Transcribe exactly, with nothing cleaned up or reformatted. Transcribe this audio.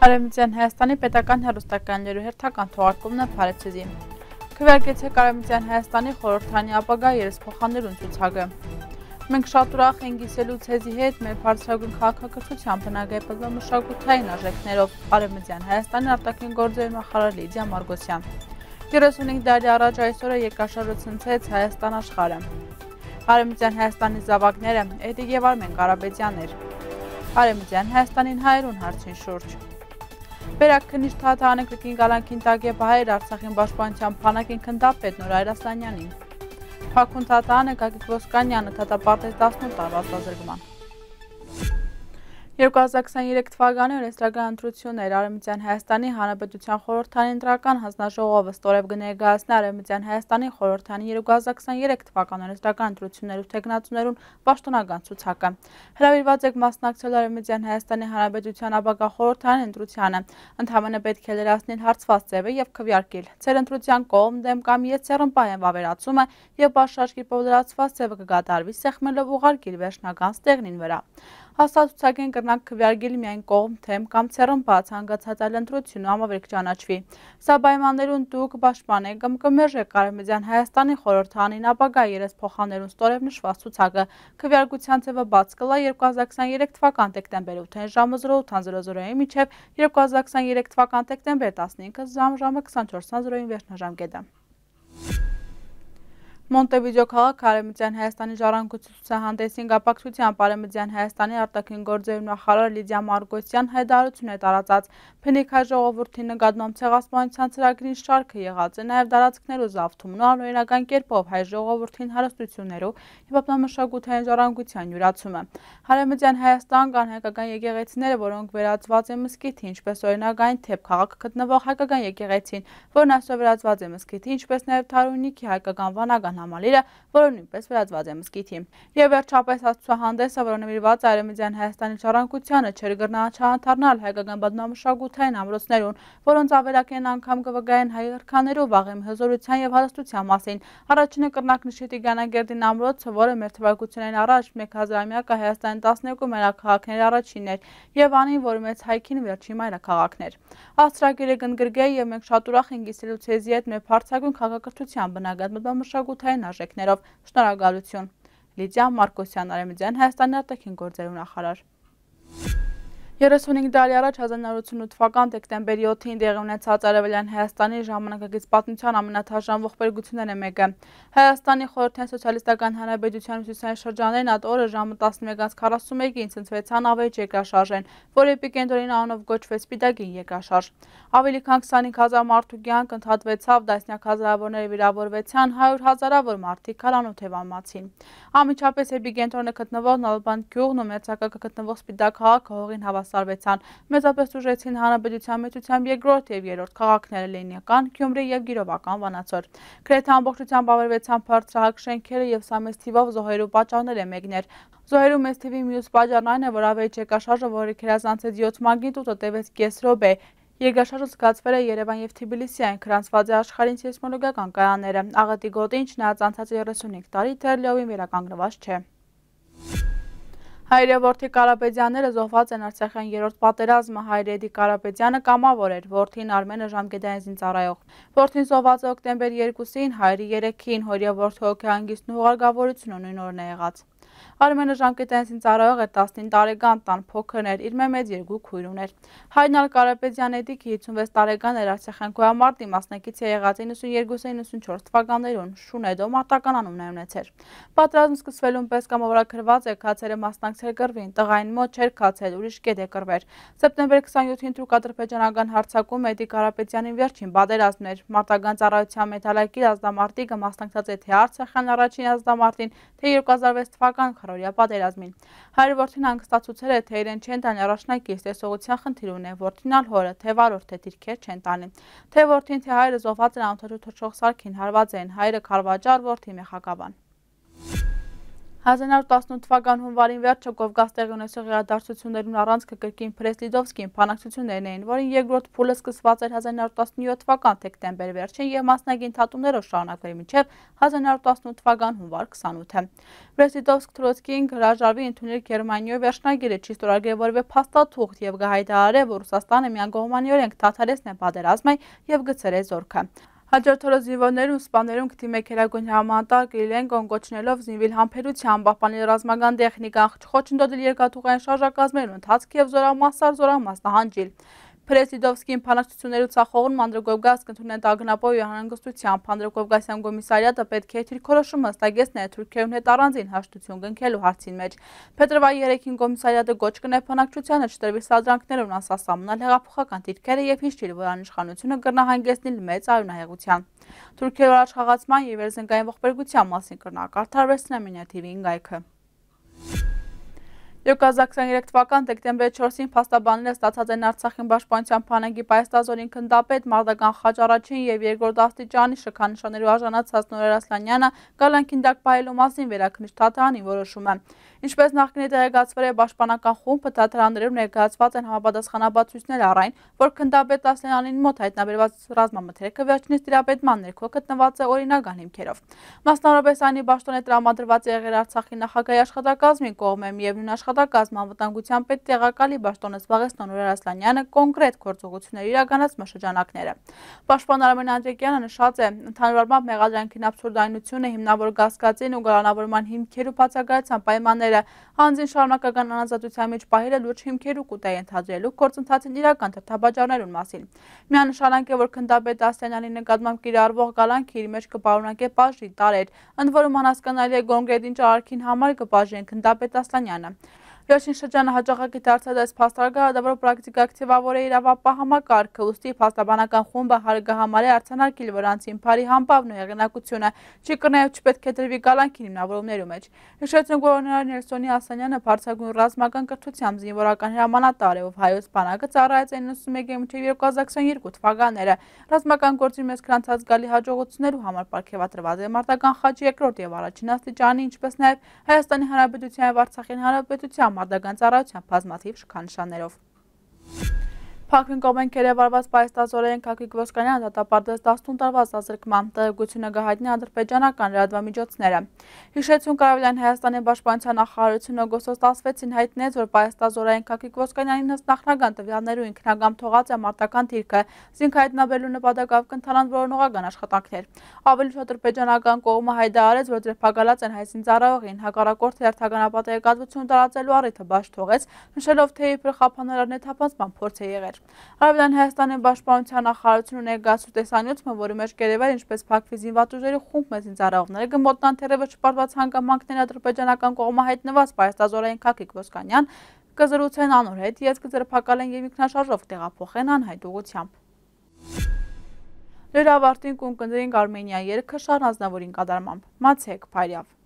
Արևմտյան Հայաստանի պետական հեռուստակայաններու հերթական թողարկումն է, բարեւ ձեզի։ Քուէարկեցէք Արևմտյան Հայաստանի խորհրդանի ապագայ երեսփոխաններուն ցուցակը։ Մենք շատ ուրախ ենք կիսելու ձեզի հետ մեր բարձրագոյն քաղաքակրթութեան բնագայթ մշակութային արժեքներով, Արևմտյան Հայաստանի արտաքին գործերու նախարար Լիդիա Մարկոսյան։ Երեսունհինգ տարի առաջ այսօրը երկրաշարժը ցնցեց Հայաստան աշխարհը։ Արևմտյան Հայաստանի զաւակները՝ Էդիկ եւ Արմէն Կարապետյաններ։ Արևմտյան Հայաստանին հայերուն հարցին շուրջ։ Վերաքննիչ դատարանը կրկին կալանքին տակ է պահեր Արցախին պաշտպանութեան բանակին գնդապետ Նորայր Ասլանյանին։ Բաքուն դատարանը Գագիկ Ոսկանյանը դատապարտեց տասնութ տարուա սազրկման։ Երկու հազար քսանեուրեք թվականի օրենսդրական ընտրութիւններ։ Արևմտյան Հայաստանի Հանրապետութեան խորհրդանին ընտրական հանձնաժողովը ստորեւ կը ներկայացնէ Արևմտյան Հայաստանի խորհրդանի երկու հազար քսաներեք թվական օրենսդրական ընտրութիւններու թեկնածուներուն պաշտօնական ցուցակը։ Հրաւիրուած եք մասնակցել Արևմտյան Հայաստանի Հանրապետութեան ապագայ խորհրդանին ընտրութեանը։ Ընդամենը պէտք է լրացնել հարցուած ձեւը եւ քուէարկել։ Ձեր ընտրութեան կողմ, դեմ կամ յետ ձեռնպահ են վաւերացումը եւ պատշաճ կերպով լրացուած ձեւը կը կատարուի սեղմելով ուղարկել վերջնական ստեղնին վրայ։ Հաստատ ցուցակէն կրնաք քուէարկել միայն կողմ, դեմ կամ ձեռնպահ ցանկացած այլ ընտրութիւն ու համավերգ ճանաչուի։ Սա պայմաններուն դուք պաշտպանէք կամ կը մերժէք Արևմտյան Հայաստանի խորհրդանին ապագայ երեսփոխաններուն ստորեւ նշուած ցուցակը։ Քուէարկութեան ձեւը բաց կ'ըլլայ երկու հազար քսաներեք թվական դեկտեմբեր ութին ժամը զրոյ ութ զրոյ զրոյի միջեւ երկու հազար քսաներեք թվական դեկտեմբեր տասնհինգը զամ ժամը քսանչորս զրոյին վերջնաժամկետը։ Մոնտեվիդեո քաղաքը Արևմտյան Հայաստանի ժառանգության ցուցահանդեսին կապակցութեամբ Արևմտյան Հայաստանի արտաքին գործերու նախարար Լիդիա Մարկոսյան հայտարարութիւն է տարածած։ Բնիկ հայ ժողովուրդին նկատմամբ ցեղասպանութեան ծրագրին շարքը եղած է նաեւ տարածքներու զաւթումն ու անօրինական կերպով հայ ժողովուրդին հարստութիւններու եւ պատմամշակութային ժառանգութեան յուրացումը։ Արևմտյան Հայաստան կան հայկական եկեղեցիները, որոնք վերածուած են մզկիթի, ինչպես օրինակ այն Թեփ քաղաքը գտնուող հայկական եկեղեցին, որն այսօր վերածուած է մզկիթի, ինչպես նաեւ Թարունիքի հայկական վանական համալիրը, որը նոյնպես վերածուած է մզկիթի։ Եւ վերջապէս, այս ցուցահանդէսը, որը նուիրուած է Արևմտյան Հայաստանի ժառանգությանը, չէր կրնայ չհանդարնալ հայկական պատմամշակութային ամրոցներուն, որոնց ավերակէն անգամ կը վկայեն հայ արքաներու վաղեմի հզօրութեան եւ հարստութեան մասին։ Առաջինը կրնանք նշել Տիգրանագերդին ամրոցը, որը մեր թվարկութենէն առաջ մէկ հազարամեակը Հայաստանի տասներկու մայրաքաղաքներէն առաջինն էր եւ անին, որ մեծ հայ քիին վերջին մայրաքաղաքն էր։ Այս ծրագիրը կընդգրկէ եւ մենք շատ ուրախ ենք կիսելու ձեզի հետ մեր բարձրագոյն քաղաքակրթութեան բնագայթ մշակութային արժեքներով։ Շնորհակալութիւն։ Լիդիա Մարկոսյան, Արևմտյան Հայաստանի արտաքին գործերու նախարար։ Երեսունհինգ տարի առաջ, հազար նոյ հարիւր ութսունութ թվական դեկտեմբեր յոթին տեղի ունեցած Արեւելյան Հայաստանի ժամանակակից պատմութեան ամենաթարժան ողբերգութիւններէն մէկը։ Հայաստանի Խորհրդային Սոցիալիստական Հանրապետութեան հիւսիսային շրջաններն այդ օրը ժամը տասնմեկ անց քառասունմէկին ցնցուեցան աւեջ երկրաշարժէն, որ էպիկենտրոնին անունով կոչուեց Սպիտակին երկրաշարժ։ Աւելի քան քսանհինգ հազար մարդու կեանք ընդհատուեցաւ, տասնյակ հազարաւորներ վիրաւորուեցան, հարիւր հազարաւոր մարդիկ քալանօթեւ անմացին։ Անմիջապէս էպիկենտրոնը գտնուող Նալբանդ գիւղն ու մերձակայքը գտնուող Սպիտակ քաղաքը հողին հաւասարուեցան։ Մեծապէս տուժեցին Հանրապետութեան մեծութեամբ երկրորդ եւ երրորդ քաղաքները՝ Լենինական, Գյումրի եւ Կիրովական Վանաձոր։ Գրեթէ ամբողջությամբ ավերուեցան բարձրահարկ շէնքերը եւ սա մեծ թիւով զոհերու պատճառներէն մէկն էր։ Զոհերու մեծ թիւի միւս պատճառն այն է, որ աւեջ երկրաշարժը, որը գերազանցեց յոթ մագնիտուտը, տեւեց կես րոպէ։ Երկրաշարժը զգացվել է Երեւան եւ Թիբիլիսիային, գրանցուած է աշխարհին սեյսմոլոգիական կայանները։ Աղետի գօտին, չնայած անցած երեսունհինգ տարի, դեռ լիովին վերականգնուած չէ։ Հայր եւ որդի Կարապետյանները զոհուած են Արցախեան երրորդ պատերազմը։ Հայր Էդիկ Կարապետյանը կամաւոր էր, որդին Արմէնը՝ ժամկետային զինծառայող։ Որդին զոհուած է հոկտեմբեր երկուսին, հայրը՝ երեքին, հօր եւ որդու հոգեհանգիստն ու հուղարկաւորությունը նոյն օրն է եղած։ Արմէնը ժամկետային զինծառայող էր, տասնինը տարեկան, տան փոքրն էր, իրմէ մեծ երկու քոյր ունէր։ Հայրն ալ Կարապետյան Էդիկը հիսունվեց տարեկան էր, Արցախեան գոյամարտի մասնակից է եղած իննսունյոթ իննսունչորս թվականներուն, Շունեդո մարտական անունն է ունեցեր։ Պատերազմ սկսուելուն պես կամավորագրուած է քացերը մասնակցել կռուին, տղային մոտ չէր քացել, ուրիշ կետ է կռուեր։ Սեպտեմբեր քսանյոթին թուրք-ադրբեջանական յարձակումը Էդիկ Կարապետյանին վերջին պատերազմն էր։ Մարտական ծառայութեան մեդալակիր ազդամարտիկը մասնակցած է թէ Արցախեան առաջին ազդամարտին, թէ երկու հազար վեց թվական քարոզեան պատերազմին։ Հայր որդին հանգստացուցեր է, թէ իրեն չեն տանի առաջնակից տեսողութեան խնդիր ունէ, որդին ալ հօրը, թէ վարորդ, թէ դիրքեր չեն տանի։ Թէ որդին, թէ հայրը զոհուած են անօթաչու թռչող սարքին, հարուած են, հայրը՝ քարվաճառ, որդին՝ մեխակապան։ Հազար նոյ հարիւր տասնութ թուական հունուարին վերջը Կովկաս տեղի ունեցող իրադարձութիւններուն առանցքը կրկին Պրեսլիդովսկին բանակցութիւններն էին, որին երկրորդ փուլը սկսուած էր հազար նոյ հարիւր տասնյոթ թուական դեկտեմբեր վերջին եւ մասնակի ընդհատումներով շարունակվեր մինչեւ հազար նոյ հարիւր տասնութ թուական հունուար քսանութը։ Պրեսլիդովսկ Թրոցքին կը հրաժարուի ընդունել Գերմանիոյ վերջնագիրը, չի ստորագրել որեւէ փաստաթուղթ եւ կը յայտարարէ, որ Ռուսաստանը միակողմանիորեն կը դադարեցնէ պատերազմը եւ կը ցրէ զօրքը։ Հաջորդ օրը զինուորներուն ու սպաներուն կը դիմէ գերագույն հրամանատար Կիրիլենկոն, կոչնելով զինուիլ համբերութեան, պահպանել ռազմական տեխնիկան, խոչընդոտել երկաթուղային շարժակազմերուն ընթացքը եւ զորամասեր զորամաս նահանջիլ։ Պրեսլիդովսկին բանակցութիւններու ձախողումը Անդրկովկաս կ'ընդունեն Տագնապով հանգստութեամբ։ Անդրկովկասեան կոմիսարիատը պէտք է դիրքորոշումը հստակեցնէ Թուրքիոյ հետ առանձին հաշտութիւն կնքելու հարցին մէջ։ Փետրուարի երեքին կոմիսարիատը կոչ կ'ընէ բնակչությանը չտրուի սադրանքներուն, անսահմանալ հեղափոխական դիրքերը եւ յիշիլ, որ անիշխանութիւնը կրնայ հանգեցնել մեծ արիւնահեղութեան։ Թուրքիոյ առաջխաղացման եւ երկրի զինքային ողբերգութեան մասին կրնայ կարդալ Վեսնամինա Թի Վի-ին կայքը։ Երկուհազար քսաներեք թուական դեկտեմբերի չորսին փաստաբանները ստացած են Արցախին պաշտպանութեան բանակի պայստազօրին գնդապետ, մարտական խաչ առաջին եւ երկրորդ աստիճանի շքանշաններու արժանացած Նորայր Ասլանեանը կալանքին տակ պահելու մասին վերաքննիչ դատարանին որոշումը։ Ինչպես նախկինը տեղեկացուեր է, պաշտպանական խումբը դատարաններուն ներկայացուած են համապատասխանաբացութիւններ առ այն, որ գնդապետ Ասլանեանին մօտ յայտնաբերուած ռազմամթերքը վերջինիս տիրապետման ներքո գտնուած է օրինական հիմքերով։ Մասնավորապես, անի պաշտօնէ տրամադրուած է եղել Արցախի նախագահի աշխատակազմին կողմէ, միեւնոյն աշխատակազմը անվտանգութեան պետ տեղակալի պաշտօնը զբաղեցնող Նորայր Ասլանեանը կոնկրետ գործողութիւններ իրականացման շրջանակները։ Պաշտպան Արմեն Անդրիկյանը նշած է, ընդհանուր առմամբ մեղադրանքին աբսուրդայնությունը, հիմնավոր կասկածին ու կալանավորման հիմքերու բացակայության պայմանները, անձին շարունակական անազատութեան մէջ պահելը լուրջ հիմքերու կու տայ ենթադրելու գործընթացին իրական դրդապատճառներուն մասին։ Միանշանակ է, որ գնդապետ Ասլանեանի նկատմամբ կիրառուող կալանքը իր մէջ կը պարունակէ բաժնի տարրեր, ընդ որում անհասկանալի է կոնկրետ ինչ արարքին համար կը բաժնեն գնդապետ Ասլանեանը։ Վերջին շրջանը յաճախակի դարձած այս փաստարկը դատավորը պրակտիկայ կը ձեւաւորէ իրավապահ համակարգը, ուստի փաստաբանական խումբը հարկը համարէ արձանարկել, որ անձին բարի համբավն ու հեղինակությունը չի կրնայ եւ չպետք է դրուի կալանքին հիմնավորումներու մէջ։ Հիշեցնենք, որ օրինակ Նելսոնի Ասլանեանը բարձրագոյն ռազմական կրթութեամբ զինուորական հրամանատար է, ով հայոց բանակը ծառայած է իննսունմէկէն մինչեւ երկուհազար քսաներկու թվականները։ Ռազմական գործին մէջ գրանցած գալի յաջողութիւններու համար պարգեւատրուած է մարտական խաչի երկրորդ եւ առաջին աստիճանի, ինչպես նաեւ Հայաստանի Հանրապետութեան եւ Արցախի Հանրապետութեան մարտական ծառայութեան բազմաթիւ շքանշաններով։ Բաքվին կողմէն գերեվարուած պայստազօրային Գագիկ Ոսկանեանը դատապարտեց տասնութ տարուան զազրկման։ Տեղեկութիւնը կը յայտնի ադրբեջանական լրատուամիջոցները։ Հիշեցնենք, Արեւելյան Հայաստանի պաշտպանության նախարարությունը օգոստոս տասնվեցին յայտնեց, որ պայստազօրային Գագիկ Ոսկանեանին ըստ նախնական տուեալներու ինքնակամ թողած է մարտական դիրքը, զինք յայտնաբերելու նպատակով կ'ընթանան որոնողական աշխատանքներ։ Աւելի ուշ ադրբեջանական կողմը յայտարարեց, որ ձերբակալած են հայ զինծառայողին, հակառակորդը հերթական ապատեգատվություն տարածելու առիթը պաշտ թողեց, նշելով, թէ իբր խափանարար նեթափանցման փորձ է եղեր։ Արեւելյան Հայաստանի պաշտպանության նախարարությունը ներկայացուց տեսանյութ մը, որի մէջ կ'երեւէր, ինչպես Բաքվի զինված ուժերի խումբ մը զինծառայողները կը մոտնան թերեւս չպարտված հանգամանքներ ադրբեջանական կողմը յայտնուած պայստազօրային Գագիկ Ոսկանեան, կը զրուցեն անոր հետ, ես կը ձերբակալեն եւ ինքնաշարժով կ'տեղափոխեն անհայտ ուղղութեամբ։ Լրավարտին կուն կ'ընտրենք Արմենիա երգը Շահն Ազնավուրին կատարմամբ։ Մացեք, բարեաւ։